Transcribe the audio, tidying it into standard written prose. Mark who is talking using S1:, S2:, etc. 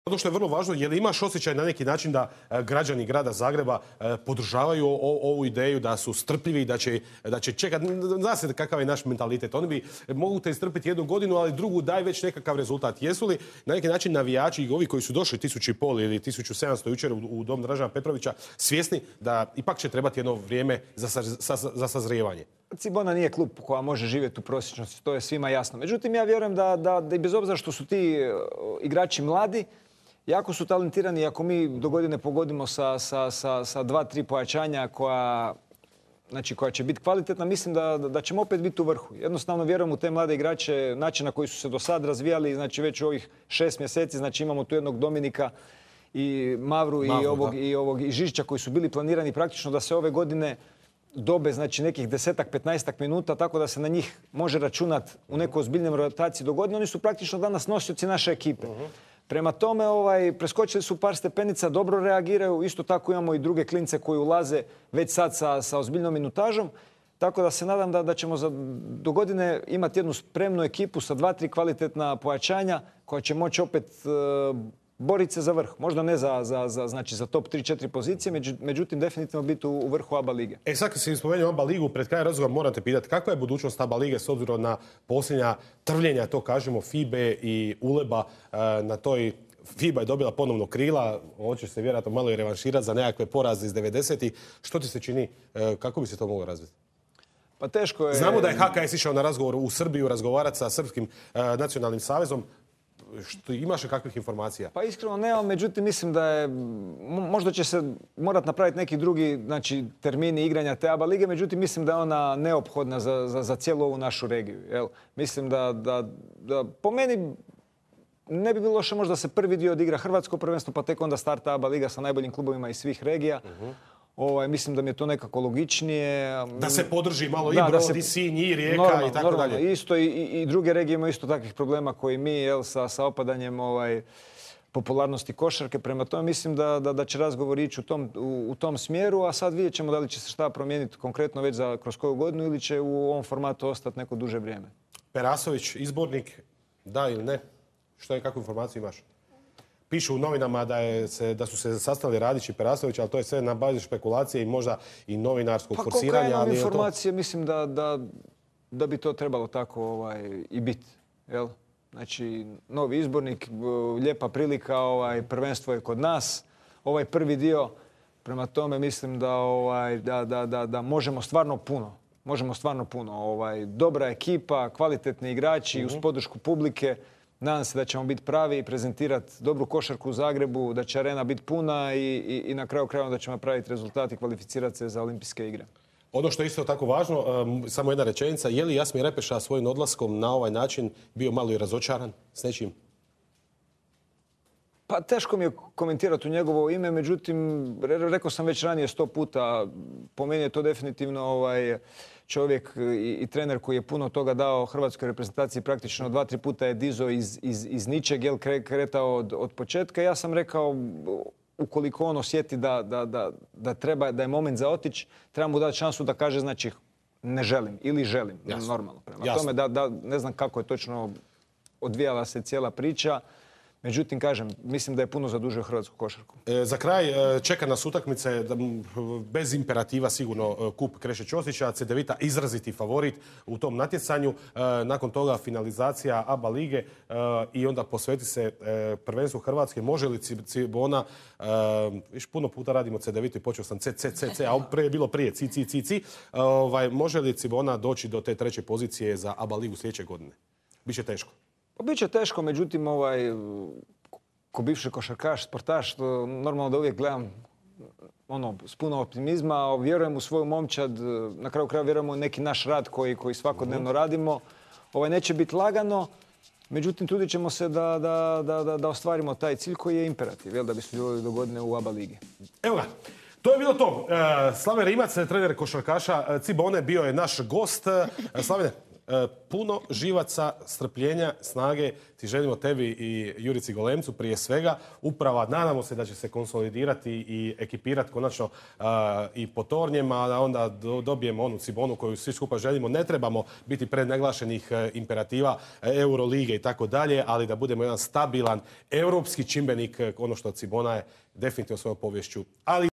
S1: Ono što je vrlo važno, je li imaš osjećaj na neki način da građani grada Zagreba podržavaju ovu ideju, da su strpljivi, da će čekati, zna se kakav je naš mentalitet. Oni bi mogu te istrpiti 1 godinu, ali drugu daj već nekakav rezultat. Jesu li na neki način navijači i ovi koji su došli 1500 ili 1700 jučer u dom Dražena Petrovića svjesni da ipak će trebati jedno vrijeme za sazrijevanje?
S2: Cibona nije klub koja može živjeti u prosječnosti, to je svima jasno. Međutim, ja vjerujem da i bez obzira što su ti igrači mladi, jako su talentirani. Ako mi do godine pogodimo sa 2-3 pojačanja koja će biti kvalitetna, mislim da ćemo opet biti u vrhu. Jednostavno vjerujem u te mlade igrače, način na koji su se do sad razvijali, znači već u ovih 6 mjeseci, znači imamo tu jednog Dominika i Mavru i Žižića koji su bili planirani praktično da se ove godine dobe znači nekih 10-15 minuta, tako da se na njih može računati u nekoj ozbiljnoj rotaciji do godine. Oni su praktično danas nosioci naše ekipe. Prema tome, preskočili su par stepenica, dobro reagiraju. Isto tako imamo i druge klince koji ulaze već sad sa ozbiljnom minutažom. Tako da se nadam da ćemo do godine imati jednu spremnu ekipu sa 2-3 kvalitetna pojačanja koja će moći opet boriti se za vrh. Možda ne za top 3-4 pozicije, međutim definitivno biti u vrhu ABA lige.
S1: Sad kad si spomenuo ABA ligu, pred kraj razgovora moram te pitati kakva je budućnost ABA lige s obzirom na posljednja trvljenja, to kažemo, FIBE i ULEB-a na toj. FIBA je dobila ponovno krila, hoće se vjerojatno malo i revanširati za nekakve poraze iz 90-ih. Što ti se čini, kako bi se to moglo razviti?
S2: Pa teško je.
S1: Znamo da je HKS išao na razgovor u Srbiju razgovarati sa Srpskim nacionalnim savezom. Imaš li kakvih informacija?
S2: Pa iskreno nemam, međutim mislim da je, možda će se morati napraviti neki drugi termini igranja te ABA lige, međutim mislim da je ona neophodna za cijelu ovu našu regiju. Jel? Mislim da po meni ne bi bilo loše možda se prvi dio odigra Hrvatsko prvenstvo, pa tek onda starta ABA liga sa najboljim klubovima iz svih regija. Mislim da mi je to nekako logičnije.
S1: Da se podrži malo i Brod, i Sinj, i Rijeka i tako dalje.
S2: Isto i druge regije imaju isto takvih problema koji mi sa opadanjem popularnosti košarke. Prema tome mislim da će razgovor ići u tom smjeru, a sad vidjet ćemo da li će se šta promijeniti konkretno već kroz koju godinu ili će u ovom formatu ostati neko duže vrijeme.
S1: Perasović, izbornik, da ili ne? Kakvu informaciju imaš? Pišu u novinama da su se sastali Radić i Perasović, ali to je sve na bazi špekulacije i možda i novinarskog forsiranja.
S2: Pa koliko informacije, mislim da bi to trebalo tako i biti. Znači, novi izbornik, lijepa prilika, prvenstvo je kod nas. Ovaj prvi dio, prema tome mislim da možemo stvarno puno. Dobra ekipa, kvalitetni igrači uz podršku publike. Nadam se da ćemo biti pravi i prezentirati dobru košarku u Zagrebu, da će arena biti puna i na kraju krajeva da ćemo napraviti rezultat i kvalificirati se za olimpijske igre.
S1: Ono što je isto tako važno, samo jedna rečenica, je li Jasmir Repeša svojim odlaskom na ovaj način bio malo i razočaran s nečim?
S2: Pa teško mi je komentirati u njegovo ime, međutim, rekao sam već ranije 100 puta, po meni je to definitivno čovjek i trener koji je puno toga dao hrvatskoj reprezentaciji, praktično 2-3 puta je dizao iz ničeg, kretao od početka. Ja sam rekao, ukoliko on osjeti da je moment za otići, treba mu dati šansu da kaže, znači, ne želim ili želim, normalno. Prema tome ne znam kako je točno odvijala se cijela priča. Međutim, kažem, mislim da je puno zadužio hrvatsku košarku.
S1: Za kraj čeka nas utakmice, bez imperativa sigurno, kup Kreše Ćosića, Cedevita izraziti favorit u tom natjecanju. Nakon toga finalizacija ABA lige i onda posveti se prvenstvu Hrvatske. Može li Cibona, viš puno puta radimo Cedevitu i počeo sam C, a prije je bilo prije C. Može li Cibona doći do te 3. pozicije za ABA ligu sljedeće godine? Biće teško.
S2: Biće teško, međutim, ko bivši košarkaš, sportaš, normalno da uvijek gledam s puno optimizma, vjerujem u svoju momčad, na kraju kraja vjerujem u neki naš rad koji svakodnevno radimo. Neće biti lagano, međutim, trudit ćemo se da ostvarimo taj cilj koji je imperativ, da bi sudjelovali do godine u ABA ligi.
S1: Evo ga. To je bilo to. Slaven Rimac, trener košarkaša Cibone, bio je naš gost. Slavene, puno živaca, strpljenja, snage. Ti želimo tebi i Jurici Golemcu prije svega. Uprava, nadamo se da će se konsolidirati i ekipirati konačno i po tornjima, a onda dobijemo onu Cibonu koju svi skupa želimo. Ne trebamo biti prednaglašenih imperativa Eurolige i tako dalje, ali da budemo jedan stabilan europski čimbenik, ono što Cibona je definitivno svojom poviješću. Ali